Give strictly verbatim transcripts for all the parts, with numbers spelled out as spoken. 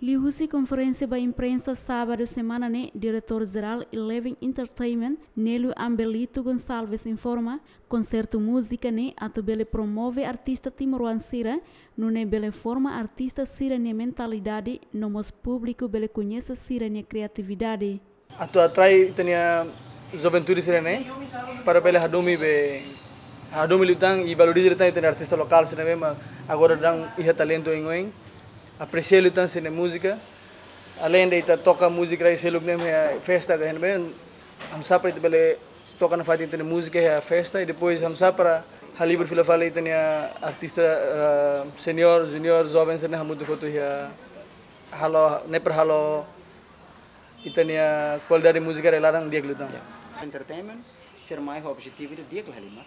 Liuhusi konferénsia ba imprensa sábadu semana ne'e, Diretór Jerál Eleven Entertainment, Nélio Ambelito Gonçalves informa, konsertu múzika ne'e atu bele promove artista timoroan sira, nune'e bele forma artista sira-nia mentalidade, no mós públiku bele koñese sira-nia kriatividade. Atu atrai ita-nia juventude sira-ne'e, para bele hadomi be, hadomi liután i valoriza liután ita-nia artista lokál sira-ne'e, mak agora daudaun iha talentu oioin. Apresia liután sira-nia múzika. Aleinde ita toka múzika rai seluk ne'e iha festa ka iha ne'ebé, hamsa para ita bele toka nafatin ita-nia múzika iha festa, i depois hamsa para halibur fila fali ita-nia artista, eh, senior, junior, joven sira-ne'e hamutuk hotu iha halo, ne'e para halo ita-nia kualidade múzika rai laran di'ak liután. Ya. Entertainment, sira mai ho objetivu ida di'ak la halimar.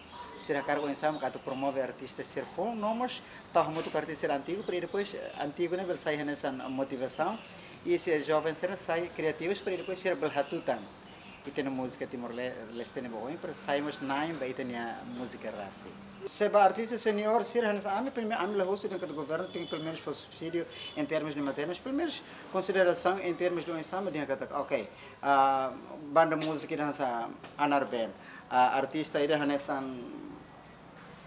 Sira hakarak oinsá mak atu promove artista sira foun, no mós tau hamutuk ho artista sira antigu, para depois, eh, antigu ne'e bele sai hanesan motivasaun, i sira joven sira sai kriativus, para depois sira bele hatutan ita-nia múzika Timor-Le-, Leste ne'e ba oin, para sai mós na'in ba ita-nia múzika rasik. Se ba artista senior sira hanesan ami, primeiro ami la husu dehan katak governu tenke pelumenus fó subsídiu em termos de matérias, pelumenus konsiderasaun em termos de oinsá mak dehan katak, ok, ah, banda múzika ida hanesan Anar Band, ah, artista ida hanesan,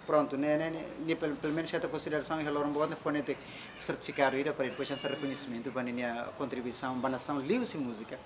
prontu, ne'e, ne'e, ne'e, ne'e pel-, pelumenus hetan konsiderasaun iha loron boot ne'e fó netik sertifikadu ida para depois hanesan rekoñesimentu ba ninia kontribuisaun ba nasaun liuhusi múzika.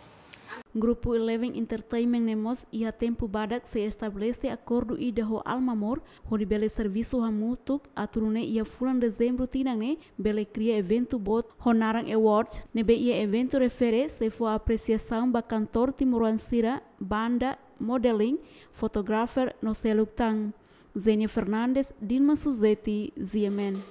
Grupu Eleven Entertainment ne'e mós iha tempu badak sei estabelese akordu ida ho Almamor, hodi bele servisu hamutuk atu nune'e iha fulan Dezembru tinan ne'e bele kria eventu boot ho naran Awards, ne'ebé iha eventu refere sei fó apresiasaun ba kantór timoroan sira, banda, modeling, fotografer no seluk tan. Zenia Fernandes, Dilma Suzeti, G M N.